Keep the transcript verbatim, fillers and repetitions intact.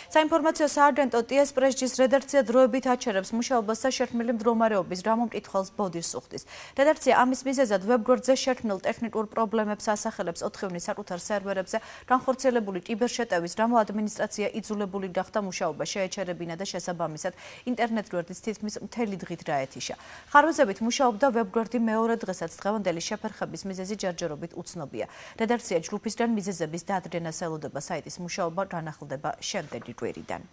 საინფორმაციო სააგენტო ტი-ეს პრესჯის რედაქცია დროებით აჩერებს მუშაობას და შერქმნილი მდგომარეობის რა მომკითხველს ბოდიშს უხდის. რედაქცია ამის მიზეზად ვებგვერდზე შერქმნილ ტექნიკურ პრობლემებს ასახელებს ოთხივნის საკუთარ სერვერებზე განხორციელებული კიბერშეტევის გამო ადმინისტრაცია იძულებული გახდა მუშაობა შეეჩერებინა და შესაბამისად ინტერნეტ გვერდის თითქმის მთელი დღით დაეთიშა. ხარვეზებით მუშაობდა ვებგვერდი მეორე დღესაც დღევანდელი შეფერხების მიზეზი ჯერჯერობით უცნობია. რედაქცია ჯგუფისგან მიზეზების დადგენას ელოდება, საიტის მუშაობა განახლდება შემდეგი კვირიდან.